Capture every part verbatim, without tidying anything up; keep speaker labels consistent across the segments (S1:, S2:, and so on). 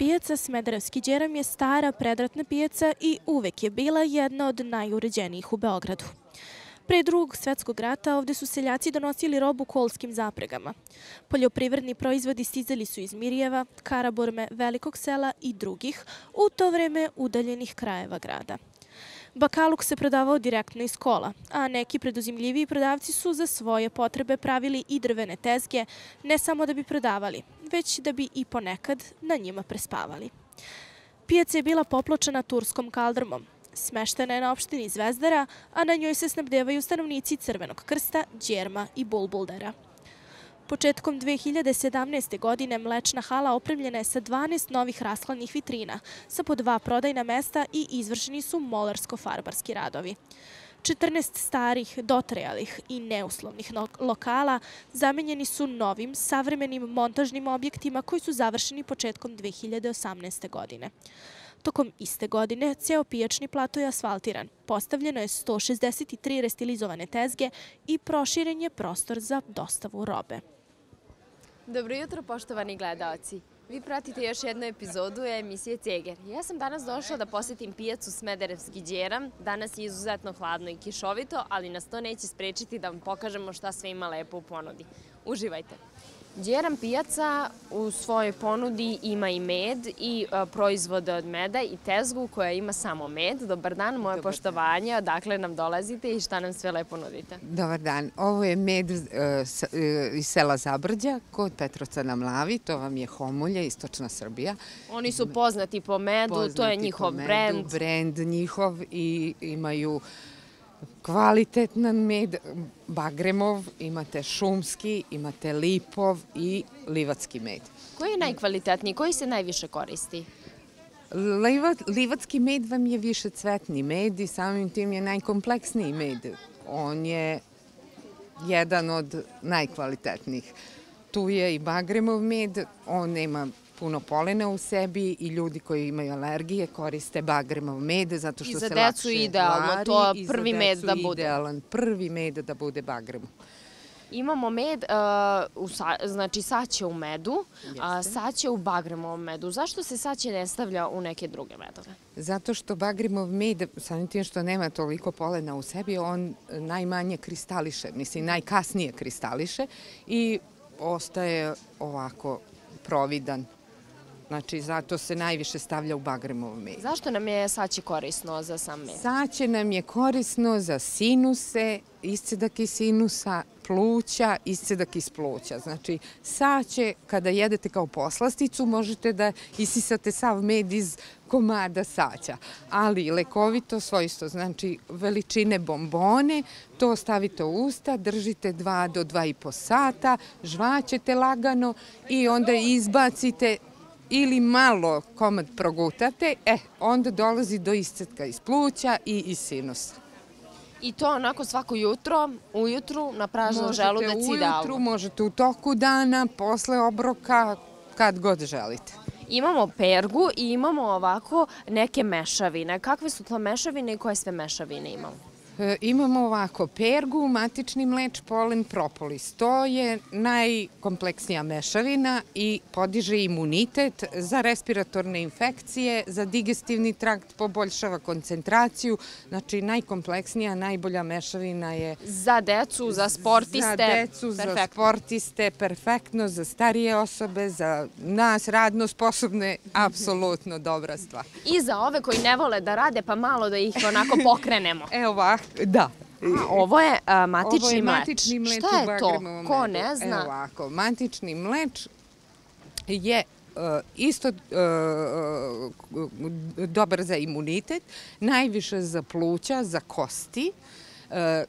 S1: Pijaca Smederevski Đeram je stara predratna pijaca i uvek je bila jedna od najuređenijih u Beogradu. Pre drugog svetskog rata ovde su seljaci donosili robu kolskim zapregama. Poljoprivredni proizvodi stizali su iz Mirjeva, Karaburme, Velikog sela i drugih, u to vreme udaljenih krajeva grada. Bakaluk se prodavao direktno iz kola, a neki preduzimljiviji prodavci su za svoje potrebe pravili i drvene tezge, ne samo da bi prodavali, već da bi i ponekad na njima prespavali. Pijaca je bila popločena turskom kaldrmom. Smeštena je na opštini Zvezdara, a na njoj se snabdevaju stanovnici Crvenog krsta, Đerma i Bulbuldera. Početkom dve hiljade sedamnaeste. godine mlečna hala opremljena je sa dvanaest novih rashladnih vitrina, sa po dva prodajna mesta i izvršeni su molarsko-farbarski radovi. četrnaest starih, dotrajalih i neuslovnih lokala zamenjeni su novim, savremenim montažnim objektima koji su završeni početkom dve hiljade osamnaeste. godine. Tokom iste godine ceo pijačni plato je asfaltiran, postavljeno je sto šezdeset tri restilizovane tezge i proširen je prostor za dostavu robe.
S2: Dobro jutro, poštovani gledaoci. Vi pratite još jednu epizodu emisije Ceger. Ja sam danas došla da posetim pijacu Smederevski Đeram. Danas je izuzetno hladno i kišovito, ali nas to neće sprečiti da vam pokažemo šta sve ima lepo u ponudi. Uživajte! Đeram pijaca u svojoj ponudi ima i med i proizvode od meda i tezgu koja ima samo med. Dobar dan, moje poštovanje. Odakle nam dolazite i šta nam sve lepo nudite?
S3: Dobar dan. Ovo je med iz sela Zabrđa kod Petrovca na Mlavi. To vam je Homulje, istočna Srbija.
S2: Oni su poznati po medu, to je njihov brend.
S3: Brend njihov i imaju kvalitetan med, bagremov, imate šumski, imate lipov i livatski med.
S2: Koji je najkvalitetniji? Koji se najviše koristi?
S3: Livatski med vam je više cvetni med i samim tim je najkompleksniji med. On je jedan od najkvalitetnijih. Tu je i bagremov med, on nema puno polena u sebi i ljudi koji imaju alergije koriste bagremov med zato što se lakše vari.
S2: I za decu idealno, to je prvi med da bude.
S3: Idealan prvi med da bude bagremov.
S2: Imamo med, znači saće u medu, saće u bagremovom medu. Zašto se saće ne stavlja u neke druge medove?
S3: Zato što bagremov med, samim tim što nema toliko polena u sebi, on najmanje kristališe, mislim najkasnije kristališe i ostaje ovako providan. Znači, zato se najviše stavlja u bagremov med.
S2: Zašto nam je saće korisno za sam med?
S3: Saće nam je korisno za sinuse, iscedak iz sinusa, pluća, iscedak iz pluća. Znači, saće, kada jedete kao poslasticu, možete da isisate sav med iz komada saća. Ali lekovito svojstvo, znači veličine bombone, to stavite u usta, držite dva do dva i po sata, žvaćete lagano i onda izbacite ili malo komad progutate, e, onda dolazi do iscetka iz pluća i iz sinusa.
S2: I to onako svako jutro, ujutru, na pražnjen želudac idealno?
S3: Možete ujutru, možete u toku dana, posle obroka, kad god želite.
S2: Imamo pergu i imamo ovako neke mešavine. Kakve su to mešavine i koje sve mešavine imamo?
S3: Imamo ovako pergu, matični mleč, polen, propolis. To je najkompleksnija mešavina i podiže imunitet za respiratorne infekcije, za digestivni trakt, poboljšava koncentraciju. Znači, najkompleksnija, najbolja mešavina je...
S2: Za decu, za sportiste.
S3: Za decu, za sportiste, perfektno, za starije osobe, za nas, radno sposobne, apsolutno dobra stvar.
S2: I za ove koji ne vole da rade, pa malo da ih onako pokrenemo.
S3: Evo ovako. Da.
S2: Ovo je matični mleč. Šta je to? Ko ne zna?
S3: Evo ovako, matični mleč je isto dobar za imunitet, najviše za pluća, za kosti.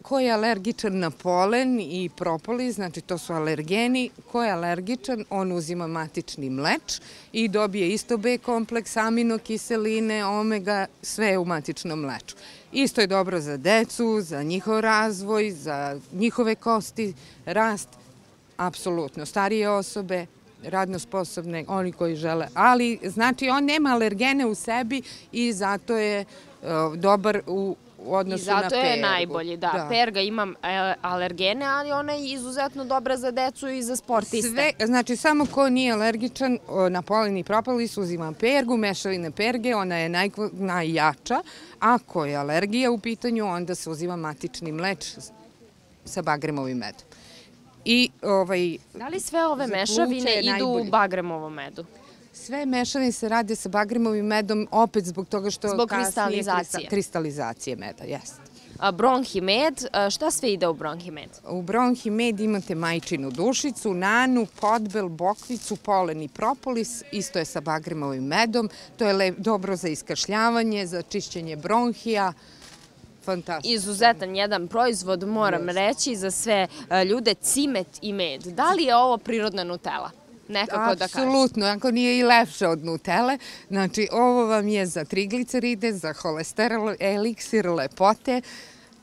S3: Ko je alergičan na polen i propolis, znači to su alergeni, ko je alergičan, on uzima matični mleč i dobije isto B kompleks, aminokiseline, omega, sve u matičnom mleču. Isto je dobro za decu, za njihov razvoj, za njihove kosti, rast, apsolutno. Starije osobe, radno sposobne, oni koji žele, ali znači on nema alergene u sebi i zato je dobar u u odnosu na pergu.
S2: I zato je najbolji, da. Perga ima alergene, ali ona je izuzetno dobra za decu i za sportiste.
S3: Sve, znači samo ko nije alergičan na polen i propolis uzima pergu, mešavine perge, ona je najjača. Ako je alergija u pitanju, onda se uzima matični mleč sa bagremovim medom. I, ovaj,
S2: da li sve ove mešavine idu u bagremovom medu?
S3: Sve mešavine se rade sa bagremovim medom, opet zbog toga što...
S2: Zbog kristalizacije.
S3: Kristalizacije meda, jeste.
S2: Bronhi med, šta sve ide u bronhi med?
S3: U bronhi med imate majčinu dušicu, nanu, podbel, bokvicu, polen i propolis, isto je sa bagremovim medom. To je dobro za iskašljavanje, za čišćenje bronhija. Fantastično.
S2: Izuzetan jedan proizvod, moram reći, za sve ljude, cimet i med. Da li je ovo prirodna Nutella? Nekako da kažem.
S3: Apsolutno, ako nije i lepše od Nutelle. Znači, ovo vam je za trigliceride, za holesterol, eliksir lepote,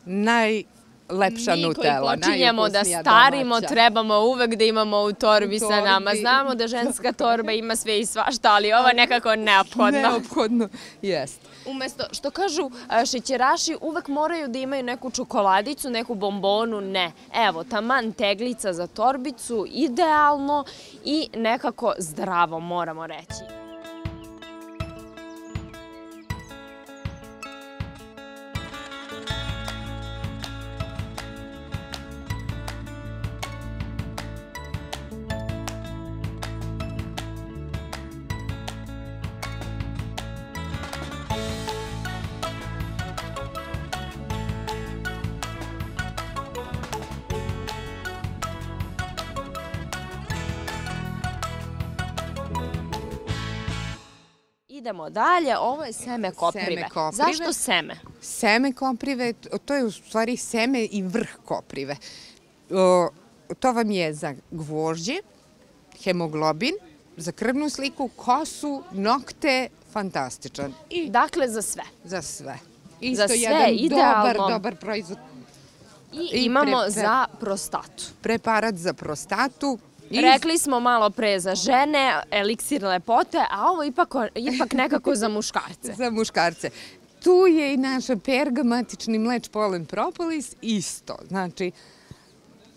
S3: najlepša Nutella.
S2: Mi koji počinjemo da starimo, trebamo uvek da imamo u torbi sa nama. Znamo da ženska torba ima sve i svašta, ali ova nekako neophodno.
S3: Neophodno, jeste.
S2: Umesto, što kažu šećeraši, uvek moraju da imaju neku čokoladicu, neku bombonu, ne. Evo, taman teglica za torbicu, idealno i nekako zdravo, moramo reći. Idemo dalje, ovo je seme koprive. Zašto seme?
S3: Seme koprive, to je u stvari seme i vrh koprive. To vam je za gvožđe, hemoglobin, za krvnu sliku, kosu, nokte, fantastičan.
S2: Dakle, za sve.
S3: Za sve. Isto jedan dobar, dobar proizvod.
S2: I imamo za prostatu.
S3: Preparat za prostatu.
S2: Rekli smo malo pre za žene, eliksir lepote, a ovo ipak nekako za muškarce.
S3: Za muškarce. Tu je i naša perga, matični mleč, polen, propolis, isto. Znači,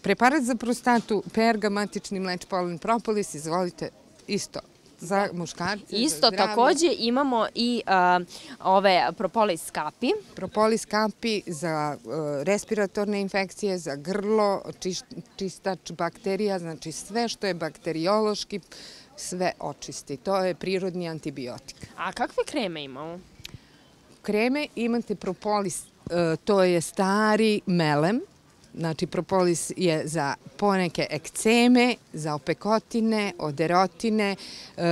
S3: preparat za prostatu, perga, matični mleč, polen, propolis, izvolite, isto. Za muškarce, za
S2: isto takođe imamo i ove propolis kapi.
S3: Propolis kapi za respiratorne infekcije, za grlo, čistač bakterija, znači sve što je bakteriološki, sve očisti. To je prirodni antibiotik.
S2: A kakve kreme imamo?
S3: Kreme imate propolis, to je stari melem. Znači, propolis je za poneke ekceme, za opekotine, oderotine,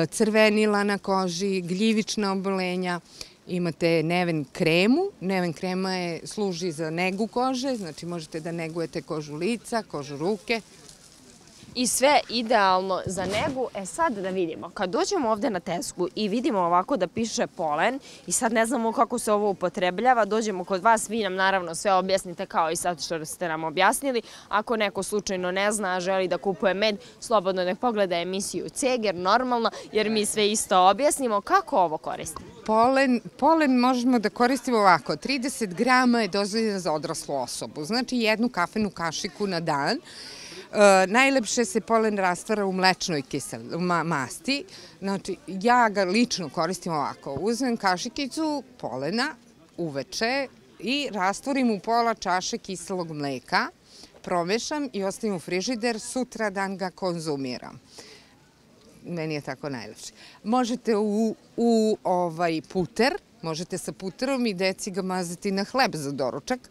S3: crvenila na koži, gljivična obolenja. Imate neven kremu. Neven krema služi za negu kože, znači možete da negujete kožu lica, kožu ruke.
S2: I sve idealno za negu. E sad da vidimo, kad dođemo ovde na tesku i vidimo ovako da piše polen i sad ne znamo kako se ovo upotrebljava, dođemo kod vas, vi nam naravno sve objasnite kao i sad što ste nam objasnili. Ako neko slučajno ne zna, a želi da kupuje med, slobodno nek pogleda emisiju Ceger, normalno, jer mi sve isto objasnimo. Kako ovo koristimo?
S3: Polen, polen možemo da koristimo ovako. trideset grama je dozvoljeno za odraslu osobu, znači jednu kafenu kašiku na dan. Najlepše se polen rastvara u mlečnoj masti. Znači, ja ga lično koristim ovako. Uzmem kašikicu polena uveče i rastvorim u pola čaše kiselog mleka, promešam i ostavim u frižider, sutra dan ga konzumiram. Meni je tako najlepše. Možete u puter, možete sa puterom i deci ga mazati na hleb za doručak.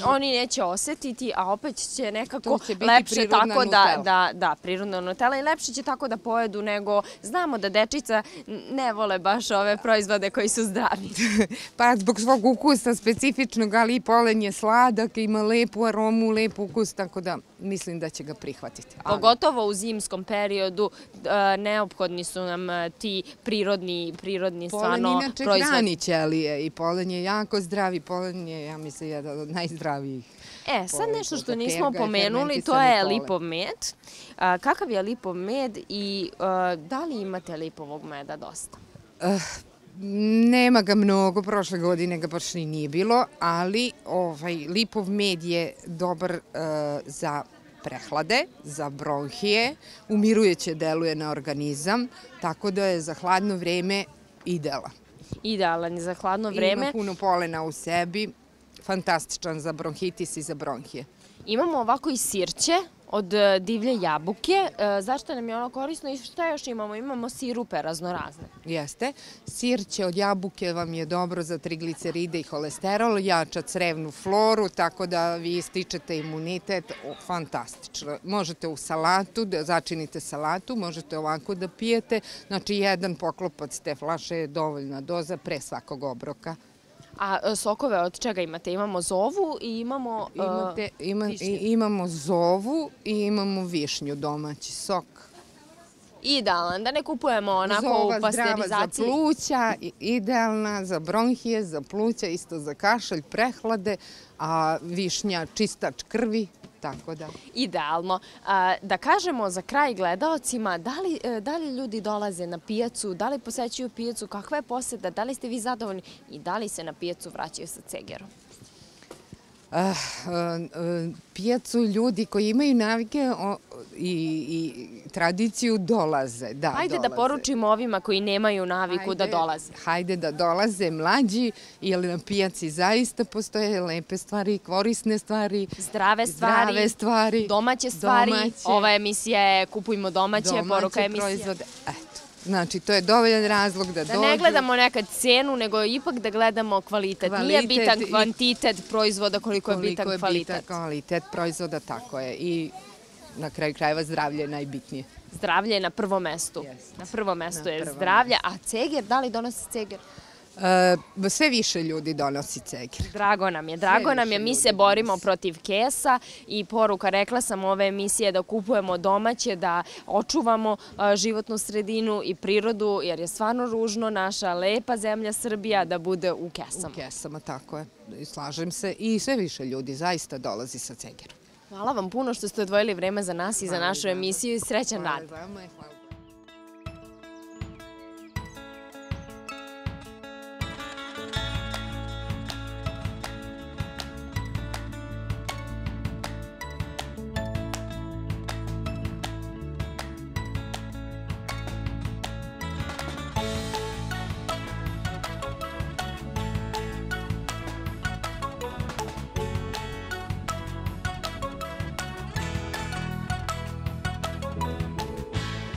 S2: Oni neće osetiti, a opet će nekako lepše tako da, da, prirodna Nutella i lepše će tako da pojedu nego, znamo da dečica ne vole baš ove proizvode koji su zdravi.
S3: Pa zbog svog ukusa specifičnog, ali i polen je sladak, ima lepu aromu, lep ukus, tako da mislim da će ga prihvatiti.
S2: Pogotovo u zimskom periodu neophodni su nam ti prirodni, prirodni stvarno proizvodi.
S3: Polen inače hrani ćelije i polen je jako zdrav, polen je, ja mislim, jedan od najzdravijih.
S2: E, sad nešto što nismo pomenuli, to je lipov med. Kakav je lipov med i da li imate lipovog meda dosta?
S3: Nema ga mnogo, prošle godine ga baš ni nije bilo, ali ovaj, lipov med je dobar uh, za prehlade, za bronhije, umirujuće deluje na organizam, tako da je za hladno vreme idealan.
S2: Idealan je za hladno vreme.
S3: Ima puno polena u sebi, fantastičan za bronhitis i za bronhije.
S2: Imamo ovako i sirće od divlje jabuke. Zašto nam je ono korisno i šta još imamo? Imamo sirupe raznorazne.
S3: Jeste. Sirće od jabuke vam je dobro za trigliceride i holesterol, jača crevnu floru, tako da vi stičete imunitet. Fantastično. Možete u salatu, da začinite salatu, možete ovako da pijete. Znači, jedan poklopac te flaše je dovoljna doza pre svakog obroka.
S2: A sokove od čega imate? Imamo zovu i imamo
S3: Imate, ima, višnju. Imamo zovu i imamo višnju, domaći sok.
S2: Idealan, da ne kupujemo onako
S3: Zova
S2: u pasterizaciji.
S3: Zdrava za pluća, idealna za bronhije, za pluća, isto za kašalj, prehlade, a višnja čistač krvi. Tako da.
S2: Idealno. Da kažemo za kraj gledaocima, da li, da li ljudi dolaze na pijacu, da li posećuju pijacu, kakva je poseta, da li ste vi zadovoljni i da li se na pijacu vraćaju sa cegerom?
S3: Uh, uh, pijacu ljudi koji imaju navike o, i, i tradiciju dolaze. Da,
S2: hajde
S3: dolaze.
S2: Da poručimo ovima koji nemaju naviku hajde, da dolaze.
S3: Hajde da dolaze mlađi, jer na pijaci zaista postoje lepe stvari, korisne stvari,
S2: zdrave stvari,
S3: zdrave stvari
S2: domaće stvari. Domaće, ova emisija je Kupujmo domaće, domaće poruka emisije.
S3: Proizvode. Eto. Znači, to je dovoljan razlog da dođu.
S2: Da ne gledamo nekad cenu, nego ipak da gledamo kvalitet. Nije bitan kvantitet proizvoda koliko je bitan kvalitet.
S3: Koliko je bitan kvalitet proizvoda, tako je. I na kraju krajeva zdravlje je najbitnije.
S2: Zdravlje je na prvom mestu. Na prvom mestu je zdravlje. A ceger, da li donosi ceger?
S3: Sve više ljudi donosi ceger.
S2: Drago nam je, drago nam je. Mi se borimo protiv kesa i poruka, rekla sam ove emisije, da kupujemo domaće, da očuvamo životnu sredinu i prirodu, jer je stvarno ružno naša lepa zemlja Srbija da bude u kesama.
S3: U kesama, tako je. Slažem se. I sve više ljudi zaista dolazi sa cegerom.
S2: Hvala vam puno što ste odvojili vreme za nas i za našu emisiju i srećan rad.
S3: Hvala vama i hvala.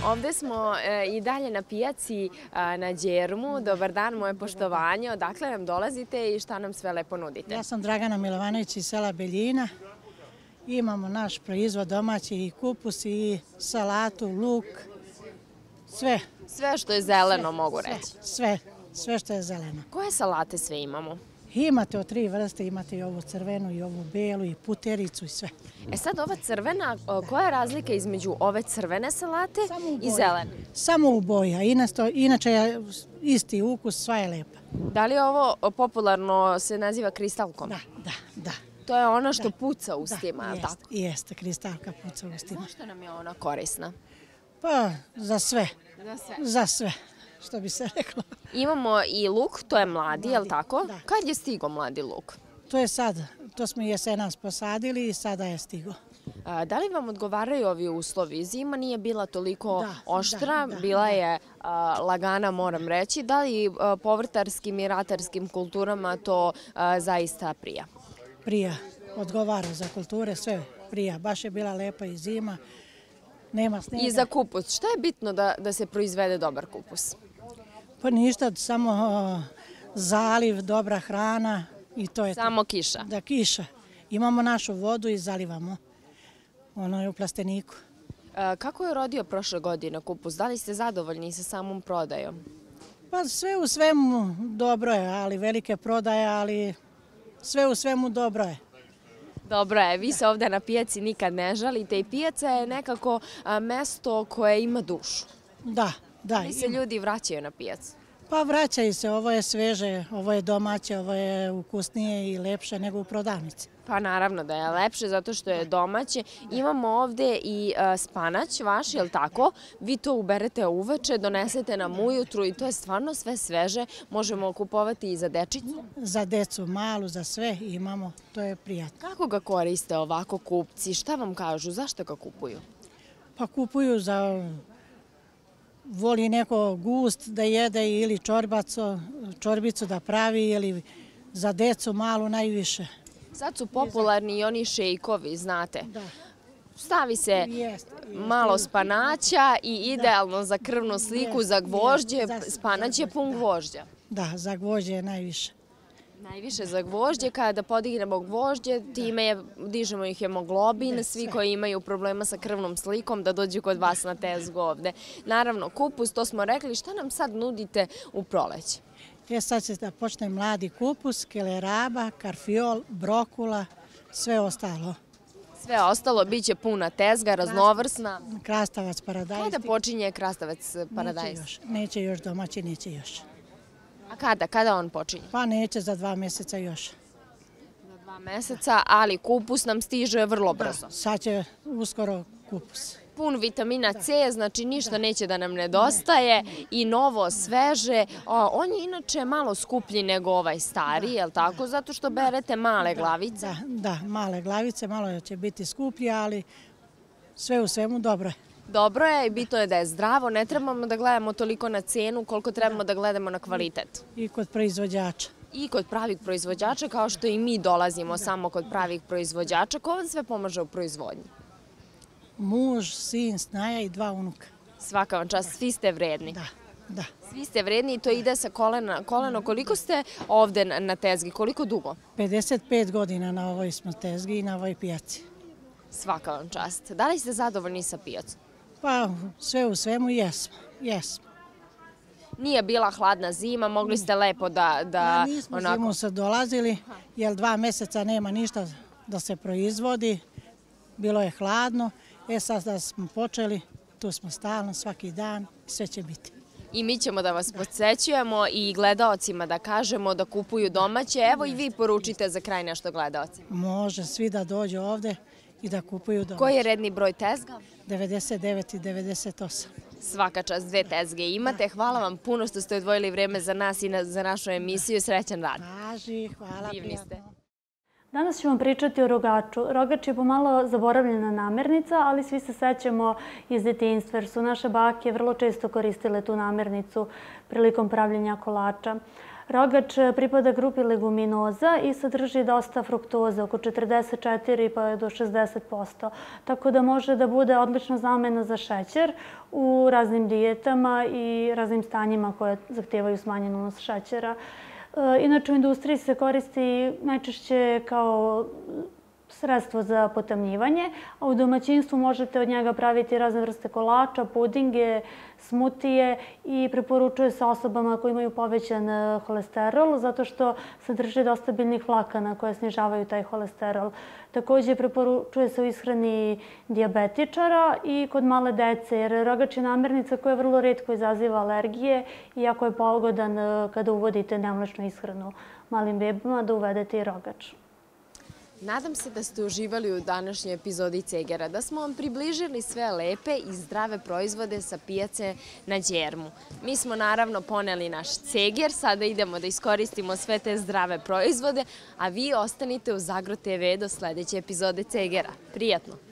S2: Ovde smo i dalje na pijaci na Đermu. Dobar dan, moje poštovanje. Odakle nam dolazite i šta nam sve lepo nudite?
S4: Ja sam Dragana Milovanović iz sela Beljina. Imamo naš proizvod domaći i kupus i salatu, luk, sve.
S2: Sve što je zeleno, mogu reći.
S4: Sve, sve što je zeleno.
S2: Koje salate sve imamo?
S4: Imate od tri vrste, imate i ovu crvenu i ovu belu i putericu i sve.
S2: E sad ova crvena, koja je razlika između ove crvene salate i zelene?
S4: Samo u boji, a inače je isti ukus, sva je lepa.
S2: Da li ovo popularno se naziva kristalkom?
S4: Da, da, da.
S2: To je ono što puca ustima, je li tako?
S4: Jeste, kristalka puca ustima.
S2: Zašto nam je ona korisna?
S4: Pa, za sve.
S2: Za sve?
S4: Za sve, što bi se reklo.
S2: Imamo i luk, to je mladi, je li tako? Da. Kad je stigo mladi luk?
S4: To je sad, to smo jesenas posadili i sada je stigo.
S2: Da li vam odgovaraju ovi uslovi? Zima nije bila toliko oštra, bila je lagana, moram reći. Da li povrtarskim i ratarskim kulturama to zaista prija?
S4: Prija, odgovara za kulture, sve prija. Baš je bila lepa i zima, nema snega.
S2: I za kupus, šta je bitno da se proizvede dobar kupus?
S4: Pa ništa, samo zaliv, dobra hrana i to je to.
S2: Samo kiša?
S4: Da, kiša. Imamo našu vodu i zalivamo. Ono je u plasteniku.
S2: Kako je rodio prošle godine kupus? Da li ste zadovoljni sa samom prodajom?
S4: Pa sve u svemu dobro je, ali velike prodaje, ali sve u svemu dobro je.
S2: Dobro je, vi se ovde na pijaci nikad ne žalite i pijaca je nekako mesto koje ima dušu.
S4: Da, da.
S2: Da li se ljudi vraćaju na pijacu?
S4: Pa vraćaju se, ovo je sveže, ovo je domaće, ovo je ukusnije i lepše nego u prodavnici.
S2: Pa naravno da je lepše zato što je domaće. Imamo ovde i e, spanać vaš, je li tako? Vi to uberete uveče, donesete nam ujutru i to je stvarno sve sveže. Možemo kupovati i za dečicu.
S4: Za decu malu, za sve imamo, to je prijatno.
S2: Kako ga koriste ovako kupci? Šta vam kažu? Zašto ga kupuju?
S4: Pa kupuju za... Voli neko gust da jede ili čorbaco, čorbicu da pravi ili za decu malu najviše.
S2: Sad su popularni i oni šejkovi, znate.
S4: Da.
S2: Stavi se
S4: Jeste, jeste.
S2: malo spanaća i idealno za krvnu sliku, za gvožđe, spanać je pun gvožđa.
S4: Da, za gvožđe je najviše.
S2: Najviše za gvožđe, kada podignemo gvožđe, time je, dižemo ih hemoglobin, svi koji imaju problema sa krvnom slikom da dođu kod vas na tezgu ovde. Naravno, kupus, to smo rekli, šta nam sad nudite u proleće?
S4: E sad će da počne mladi kupus, keleraba, karfiol, brokula, sve ostalo.
S2: Sve ostalo bit će puna tezga, raznovrsna.
S4: Krastavac, paradajz.
S2: Kada počinje krastavac paradajz?
S4: Neće još, neće još domaći, neće još.
S2: A kada? Kada on počinje?
S4: Pa neće za dva mjeseca još.
S2: Za dva meseca, ali kupus nam stiže vrlo brzo.
S4: Sad će uskoro kupus.
S2: Pun vitamina C, znači ništa neće da nam nedostaje i novo, sveže. On je inače malo skuplji nego ovaj stari, je li tako? Zato što berete male glavice.
S4: Da, da, male glavice, malo će biti skuplje, ali sve u svemu dobro je.
S2: Dobro je i bitno je da je zdravo. Ne trebamo da gledamo toliko na cenu koliko trebamo da gledamo na kvalitet.
S4: I kod proizvođača.
S2: I kod pravih proizvođača, kao što i mi dolazimo samo kod pravih proizvođača. Ko vam sve pomaže u proizvodnji?
S4: Muž, sin, snaja i dva unuka.
S2: Svaka vam čast, svi ste vredni.
S4: Da, da.
S2: Svi ste vredni i to ide sa kolena. Koleno, koliko ste ovde na tezgi? Koliko dugo?
S4: pedeset pet godina na ovoj smo tezgi i na ovoj pijaci.
S2: Svaka vam čast. Da li ste zadovoljni sa pijacom?
S4: Pa sve u svemu jesmo, jesmo.
S2: Nije bila hladna zima, mogli ste lepo da...
S4: Ja nismo zimu se dolazili, jer dva mjeseca nema ništa da se proizvodi. Bilo je hladno, e sad da smo počeli, tu smo stalno, svaki dan, sve će biti.
S2: I mi ćemo da vas podsjećujemo i gledaocima da kažemo da kupuju domaće. Evo i vi poručite za kraj nešto gledaocima.
S4: Može svi da dođu ovde i da kupuju domaće.
S2: Koji je redni broj tezga?
S4: devedeset devet i devedeset osam.
S2: Svaka čast, dve tezge imate. Hvala vam puno što ste odvojili vreme za nas i za našu emisiju. Srećan rad.
S4: Važi, hvala.
S2: Divni ste.
S5: Danas ćemo pričati o rogaču. Rogač je pomalo zaboravljena namirnica, ali svi se sećamo iz detinjstva, jer su naše bake vrlo često koristile tu namirnicu prilikom pravljenja kolača. Rogač pripada grupi leguminoza i sadrži dosta fruktoze, oko četrdeset četiri pa do šezdeset posto. Tako da može da bude odlična zamena za šećer u raznim dijetama i raznim stanjima koje zahtijevaju smanjen unos šećera. Inače, u industriji se koristi najčešće kao sredstvo za potamnjivanje, a u domaćinstvu možete od njega praviti razne vrste kolača, pudinge, smutije i preporučuje se osobama koji imaju povećan holesterol zato što sadrži dosta biljnih vlakana koje snižavaju taj holesterol. Također preporučuje se u ishrani dijabetičara i kod male dece, jer rogač je namirnica koja vrlo retko izaziva alergije i jako je pogodan kada uvodite nemlečnu ishranu malim bebama da uvedete i rogač.
S2: Nadam se da ste uživali u današnjoj epizodi Cegera, da smo vam približili sve lepe i zdrave proizvode sa pijace na Đermu. Mi smo naravno poneli naš Ceger, sada idemo da iskoristimo sve te zdrave proizvode, a vi ostanite u Zagro te ve do sledeće epizode Cegera. Prijatno!